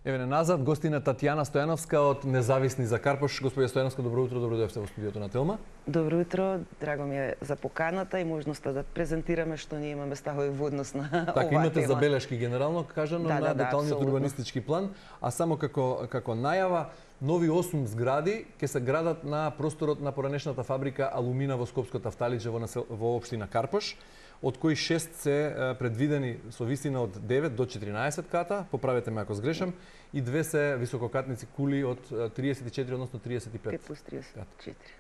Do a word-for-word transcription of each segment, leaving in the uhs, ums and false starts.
Еве назад гостина Татјана Стојановска од Независни за Карпош. Господја Стојановска, добро утро, добро дојдовте во студиото на Телма. Добро утро, драго ми е за поканата и можноста да презентираме што ние имаме ставови во однос на така, оваа тема. Така, имате забелешки генерално кажано да, на да, деталниот да, урбанистички план, а само како како најава, нови осум згради ќе се градат на просторот на поранешната фабрика Алумина во Скопско Тафталиџе во, насел... во општина Карпош, од кои шест се предвидени со висина од девет до четиринаесет ката, поправете ме ако сгрешам, и две се висококатници кули од триесет и четири, односно триесет и пет. пет плюс триесет и четири.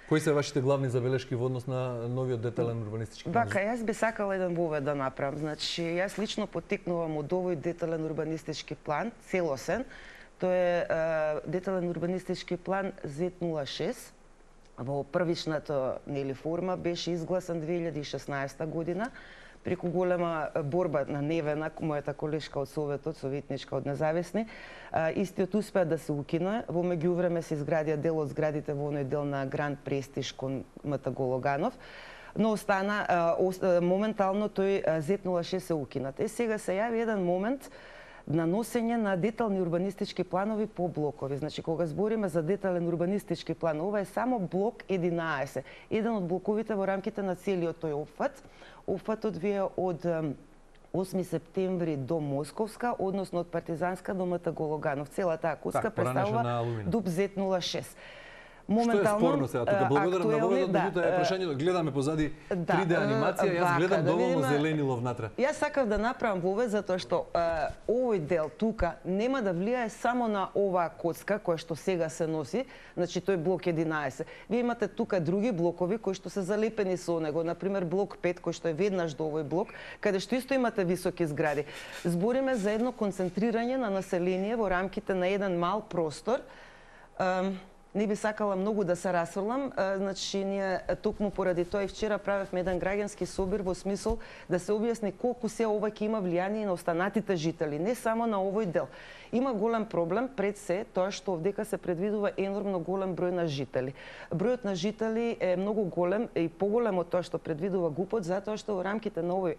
Кои се вашите главни забелешки во однос на новиот детален урбанистички план? Вака, јас би сакала еден вовед да направам. Значи, јас лично потекнувам од овој детален урбанистички план, целосен. Тој е, е детален урбанистички план зет нула шест. Во првичната нели форма беше изгласан две илјади и шеснаесета година преку голема борба на Невена, мојата колешка од Советот, советничка од Независни. Истиот успеа да се укине. Во меѓувреме се изградија дел од зградите во оној дел на Гранд Престиж кон МТ Гологанов, но остана моментално тој зет нула шест се укинат. Е сега се јави еден момент на носење на детални урбанистички планови по блокови. Значи, кога збориме за детален урбанистички план, ова е само блок единаесет. Еден од блоковите во рамките на целиот тој опфат. Опфатот вие од осми септември до Московска, односно од Партизанска до МТ Гологанов. Цела таа коска представува ДУП зет нула шест. Моментално, што е спорно сега тука? Благодарам на воведот, да, меѓутоа е прашање, гледаме позади да, три Д анимација, јас вака, гледам да доволно видиме, зеленило внатре. Јас сакав да направам вовед затоа што е, овој дел тука нема да влијае само на оваа коцка која што сега се носи, значи тој блок единаесет. Вие имате тука други блокови кои што се залепени со него, например блок пет кој што е веднаш до овој блок, каде што исто имате високи згради. Збориме за едно концентрирање на население во рамките на еден мал простор. Не би сакала многу да се расфрлам, значи ние токму поради тоа и вчера правевме еден граѓански собир во смисол да се објасни колку се ова ќе има влијание на останатите жители, не само на овој дел. Има голем проблем пред се тоа што овдека се предвидува енормно голем број на жители. Бројот на жители е многу голем и поголем од тоа што предвидува ГУП-от, затоа што во рамките на овој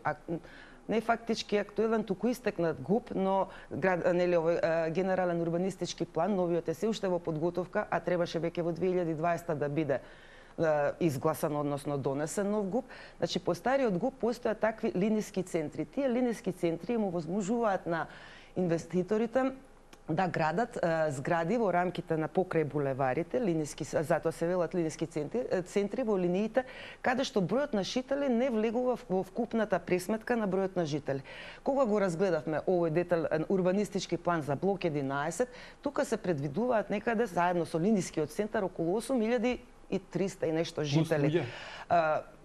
не фактички актуелен, туку истекнат ГУП, но град, нели, овој генерален урбанистички план, новиот е се уште во подготовка, а требаше веќе во две илјади и дваесета да биде изгласан, односно донесен нов ГУП. Значи, по стариот ГУП постојат такви линиски центри. Тие линиски центри му возможуваат на инвеститорите да градат е, згради во рамките на покрај булеварите, линиски, затоа се велат линиски центри, центри во линиите, каде што бројот на жители не влегува во вкупната пресметка на бројот на жители. Кога го разгледавме овој детален урбанистички план за блок единаесет, тука се предвидуваат некаде заедно со линискиот центар околу осум илјади и триста и нешто жители.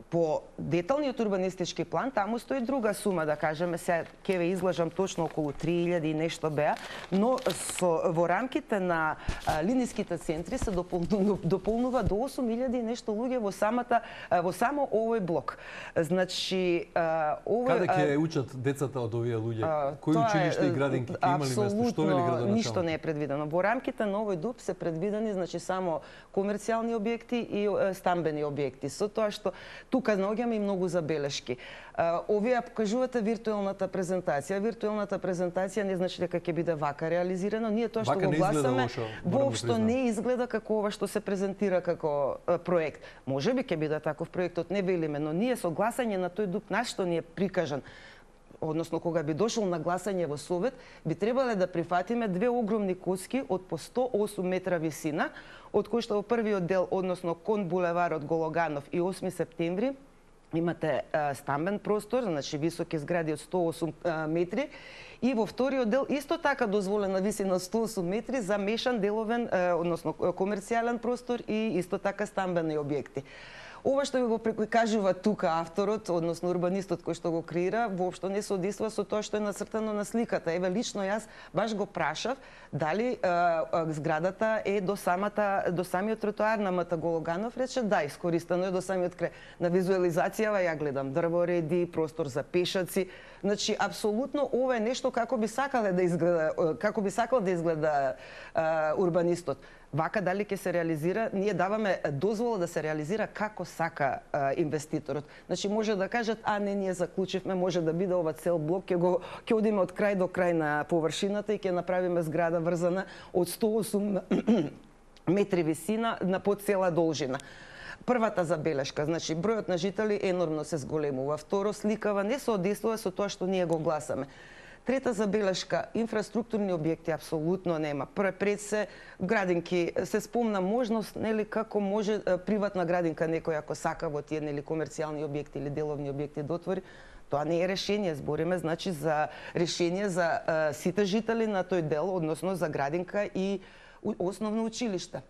По деталниот урбанистички план, таму стои друга сума, да кажеме, сега ќе ве излажам точно околу три илјади и нешто беа, но со, во рамките на а, линиските центри се дополнува, дополнува до осум илјади и нешто луѓе во самата во само овој блок. Значи, а, овој Каде ќе учат децата од овие луѓе? Кои училишта и градинки ќе имали место? Што вели градоначалник? Ништо не е предвидено. Во рамките на овој ДУП се предвидени значи само комерцијални објекти и стамбени објекти. Со тоа што тука наоѓаме и многу забелешки. Овие покажувате виртуелната презентација. Виртуелната презентација не значи дека ќе биде вака реализирано. Ние тоа што вака го гласаме воопшто да не изгледа како ова што се презентира како проект. Може би ќе биде таков проектот, не велиме, но ние со гласање на тој ДУП на што ни е прикажан, односно кога би дошол на гласање во Совет, би требале да прифатиме две огромни коцки од по сто осум метра висина, од кои што во првиот дел, односно кон булеварот Гологанов и осми септември, имате а, стамбен простор, значи високи згради од сто осум а, метри, и во вториот дел исто така дозволена висина од сто осум метри за мешан деловен, а, односно комерцијален простор и исто така стамбени објекти. Ова што ви го прикажува тука авторот, односно урбанистот кој што го креира, воопшто не се одесува со тоа што е нацртано на сликата. Еве лично јас баш го прашав дали е, е, зградата е до самата до самиот тротоар на МТ Гологанов, рече да, искористено е до самиот крај. На визуализацијава ја гледам дрвореди, простор за пешаци. Значи апсолутно ова е нешто како би сакале да изгледа, како би сакал да изгледа а, урбанистот. Вака дали ќе се реализира, ние даваме дозвола да се реализира како сака а, инвеститорот. Значи може да кажат, а не, ние заклучивме, може да биде ова цел блок, ќе го ќе одиме од крај до крај на површината и ќе направиме зграда врзана од сто и осум метри висина на по цела должина. Првата забелешка, значи бројот на жители енормно се зголемува. Второ, сликава не соодействува со тоа што ние го гласаме. Трета забелешка, инфраструктурни објекти апсолутно нема. Пред се градинки, се спомна можност, нели, како може приватна градинка некој ако сака во тие, нели, комерцијални објекти или деловни објекти да отвори. Тоа не е решение, збориме значи за решение за а, сите жители на тој дел, односно за градинка и основно училиште.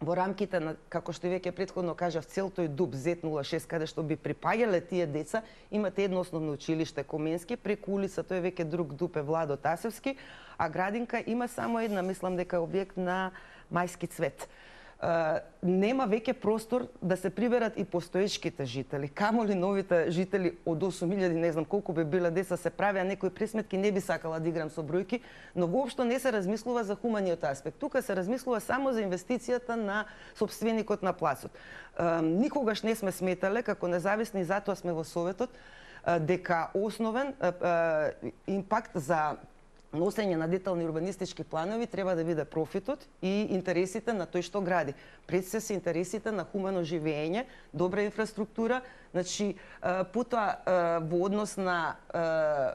Во рамките на, како што веќе претходно кажав, цел тој ДУП зет нула шест, каде што би припаѓале тие деца, имате едно основно училиште Коменски, преку улица тој веќе друг ДУП е Владо Тасевски, а градинка има само една, мислам дека е објект на Мајски цвет. Uh, нема веќе простор да се приберат и постоечките жители. Камоли новите жители од осум илјади, не знам колку би биле деца, се правеа некои пресметки, не би сакала да играм со бројки, но воопшто не се размислува за хуманиот аспект. Тука се размислува само за инвестицијата на собственикот на плацот. Uh, никогаш не сме сметале, како независни, затоа сме во Советот, uh, дека основен uh, uh, импакт за носење на детални урбанистички планови треба да биде профитот и интересите на тој што гради. Пред се се интересите на хумано живење, добра инфраструктура, значи потоа во однос на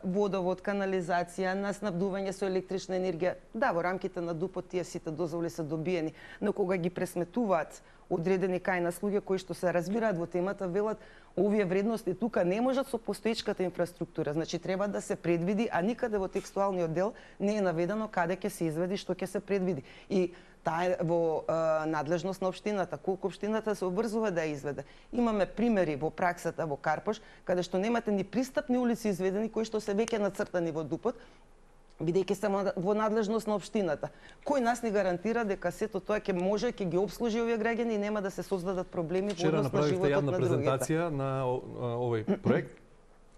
водовод, канализација, на снабдување со електрична енергија. Да, во рамките на ДУП-от тие сите дозволи се добиени, но кога ги пресметуваат одредени кај нас луѓе кои што се разбираат во темата, велат овие вредности тука не можат со постоечката инфраструктура. Значи треба да се предвиди, а никаде во текстуалниот дел не е наведено каде ќе се изведи, што ќе се предвиди. И таа е во е, надлежност на општината, колку општината се обрзува да ја изведе. Имаме примери во праксата во Карпош, каде што немате ни пристапни улици изведени кои што се веќе нацртани во ДУП-от, бидејќи се во надлежност на општината. Кој нас ни гарантира дека сето тоа ќе може, ќе ги обслужи овие граѓани и нема да се создадат проблеми во однос на животот на другите? Вчера направивте јавна презентација на овој проект.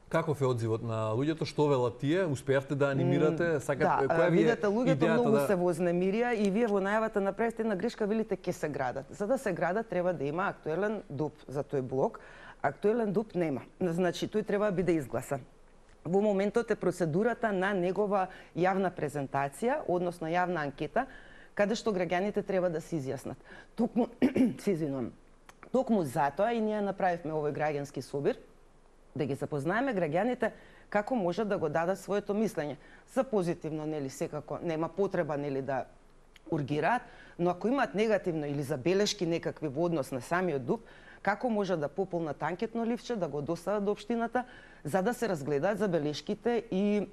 Каков е одзивот на луѓето? Што велат тие? Успеавте да анимирате? Сакат, да, која ви е видете, луѓето многу да... се вознемирија и вие во најавата направите една грешка, велите ке се градат. За да се градат треба да има актуелен ДУП за тој блок. Актуелен ДУП нема. Значи тој треба да биде изгласан. Во моментот е процедурата на негова јавна презентација, односно јавна анкета, каде што граѓаните треба да се изјаснат. Токму, се извинувам, токму затоа и ние направивме овој граѓански собир, да ги запознаеме граѓаните како можат да го дадат своето мислење. За позитивно, нели, секако нема потреба, нели, да ургираат, но ако имаат негативно или забелешки некакви во однос на самиот ДУП, како може да пополнат анкетно ливче, да го достават до општината, за да се разгледаат забелешките и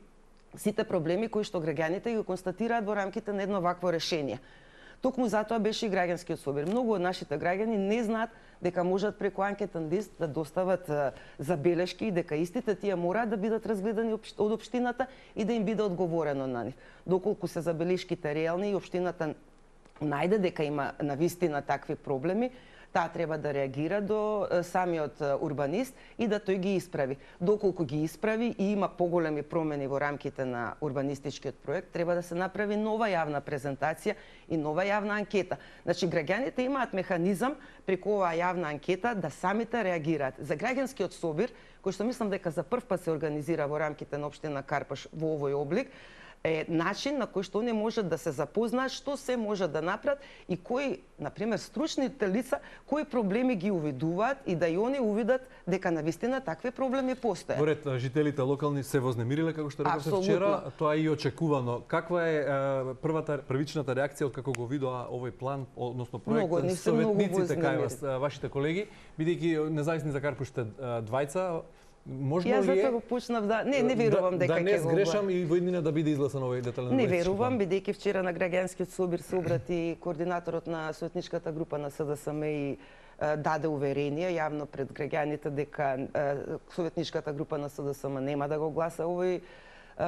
сите проблеми кои што граѓаните ги констатираат во рамките на едно вакво решение. Токму затоа беше и граѓанскиот собир. Многу од нашите граѓани не знаат дека можат преку анкетен лист да достават забелешки и дека истите тие мораат да бидат разгледани од општината и да им биде одговорено на нив. Доколку се забелешките реални и општината најде дека има навистина такви проблеми, таа треба да реагира до самиот урбанист и да тој ги исправи. Доколку ги исправи и има поголеми промени во рамките на урбанистичкиот проект, треба да се направи нова јавна презентација и нова јавна анкета. Значи, граѓаните имаат механизам преку оваа јавна анкета да самите реагираат. За граѓанскиот собир, кој што мислам дека за прв пат се организира во рамките на општина Карпош во овој облик, е начин на кој што они можат да се запознаат што се може да направат и кои, например, стручните лица, кои проблеми ги увидуваат и да и они увидат дека навистина такви проблеми постојат. Поред жителите локални се вознемириле, како што рековте вчера, тоа е и очекувано. Каква е првата првичната реакција од како го видоа овој план, односно проект, советниците кај вас, вашите колеги, бидејќи независни за Карпош сте двајца? Можно Јас ли е... затоа почнав да не не верувам да, дека ќе да не сгрешам и во иднина да биде изгласан овој детален Не верувам, бидејќи вчера на граѓанскиот собир се обрати координаторот на советничката група на СДСМ и даде уверение јавно пред граѓаните дека советничката група на СДСМ нема да го гласа овој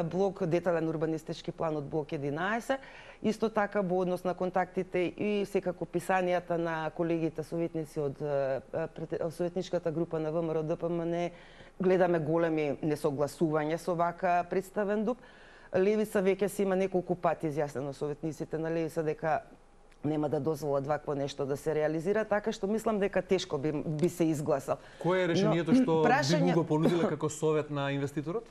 блок, детален урбанистички план од блок единаесет. Исто така во однос на контактите и секако писанијата на колегите советници од советничката група на ВМРО ДПМН, гледаме големи несогласувања со вака представен ДУП. Левица веќе си има неколку пати изјаснено советниците на Левица дека нема да дозволат вакво нешто да се реализира, така што мислам дека тешко би, би се изгласал. Кое е решението Но, што прашање... би го понудила како совет на инвеститорот?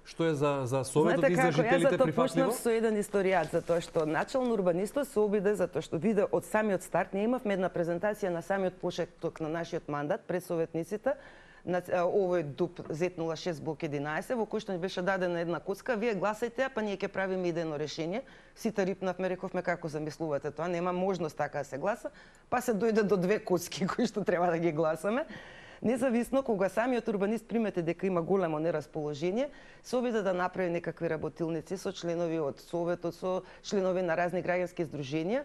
Што е за, за советот и за жителите прифатливо? Јас почнав со еден историјат, затоа што начално урбанистот се обиде, затоа што виде од самиот старт, ние имавме една презентација на самиот почеток на нашиот мандат пред советниците, на овој ДУП зет нула шест блок единаесет, во кој што ни беше дадена една коцка, вие гласајте, па ние ќе правиме идејно решение. Сите рипнавме, рековме како замислувате тоа, нема можност така да се гласа, па се дојде до две коцки кои што треба да ги гласаме. Независно, кога самиот урбанист примете дека има големо нерасположение, се обиде да направи некакви работилници со членови од Советот, со членови на разни граѓански здруженија,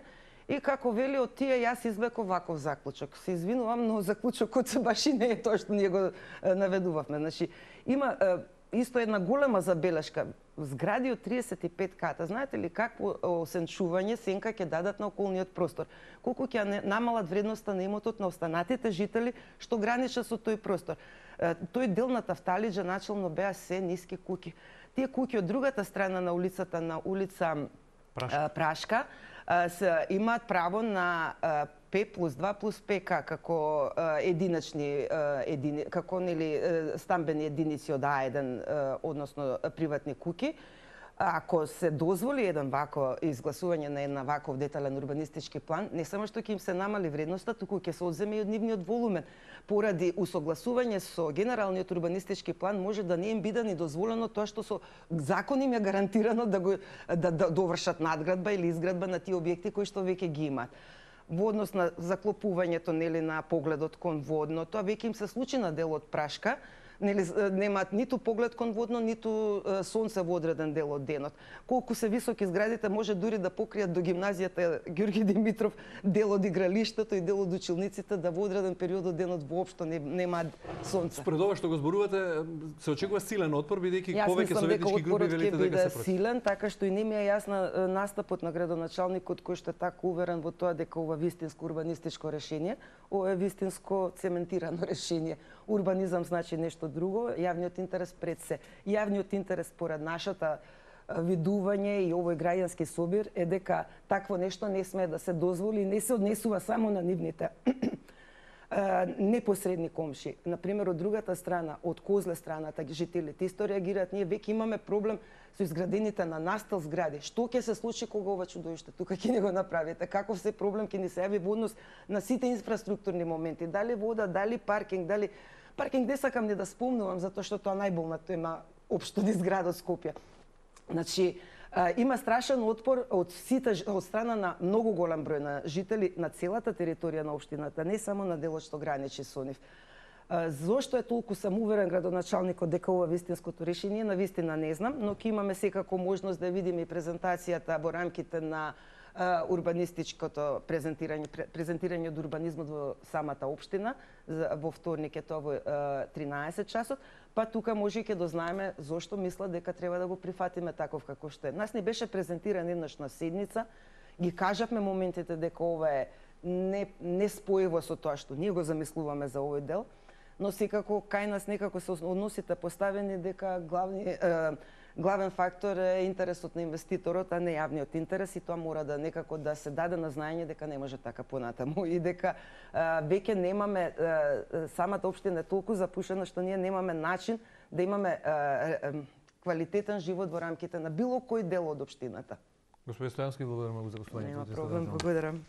и како вели од тие јас извлеков ваков заклучок. Се извинувам, но заклучокот баш и не е тоа што ние го наведувавме. Значи, има исто една голема забелешка. Згради од триесет и пет ката. Знаете ли какво осенчување сенка ќе дадат на околниот простор? Колку ќе намалат вредноста на имотот на останатите жители што граничат со тој простор? Тој дел на Тафталиџа начално беа се ниски куќи. Тие куќи од другата страна на улицата, на улица Прашка, Прашка се имаат право на П плюс два плюс П К како единачни едини, како нели стамбени единици од А еден, односно приватни куќи. Ако се дозволи еден вако изгласување на една ваков детален урбанистички план, не само што ќе им се намали вредноста, туку ќе се одземе и од нивниот волумен. Поради усогласување со генералниот урбанистички план може да не им биде ни дозволено тоа што со закон им е гарантирано да го да, да довршат надградба или изградба на тие објекти кои што веќе ги имаат. Во однос на заклопувањето нели на погледот кон водно, тоа веќе им се случи на делот Прашка. Нели немаат ниту поглед кон водно, ниту сонце во одреден дел од денот. Колку се високи зградите може дури да покријат до гимназијата Ѓорги Димитров дел од игралиштето и дел од училниците, да во одреден период од денот воопшто не, немаат сонце. Според ова што го зборувате, се очекува силен отпор, бидејќи повеќе советнички групи велите дека се против. Силен, така што и не ми е јасна настапот на градоначалникот кој што е така уверен во тоа дека ова вистинско урбанистичко решение, ова е вистинско цементирано решение. Урбанизам значи нешто друго, јавниот интерес пред се. Јавниот интерес според нашата видување и овој граѓански собир е дека такво нешто не смее да се дозволи и не се однесува само на нивните непосредни комши. Например, од другата страна, од Козле страната, жителите исто реагираат. Ние веќе имаме проблем со изградените на настил згради. Што ќе се случи кога ова чудовиште тука ќе не го направите? Каков се проблем ќе ни се јави во однос на сите инфраструктурни моменти? Дали вода, дали паркинг, дали паркинг не сакам ни да спомнувам затоа што тоа најболна тема општо низ градот Скопје. Значи, има страшен отпор од сите од страна на многу голем број на жители на целата територија на општината, не само на делот што граничи со нив. Зошто е толку самоуверен градоначалникот дека ова вистинското решение, на вистина не знам, но ќе имаме секако можност да видиме и презентацијата во рамките на урбанистичкото презентирање презентирање од урбанизмот во самата општина во вторник е тоа во тринаесет часот, па тука може и ќе дознаеме зошто мислат дека треба да го прифатиме таков како што е. Нас не беше презентиран еднаш на седница, ги кажавме моментите дека ова е не не спојиво со тоа што ние го замислуваме за овој дел, но секако кај нас некако се односите поставени дека главни е, главен фактор е интересот на инвеститорот, а не јавниот интерес, и тоа мора да некако да се даде на знаење дека не може така понатаму и дека веќе немаме самата општина е толку запушена што ние немаме начин да имаме квалитетен живот во рамките на било кој дел од општината. Господин Стојански, благодарам за гостувањето. Нема проблем, благодарам.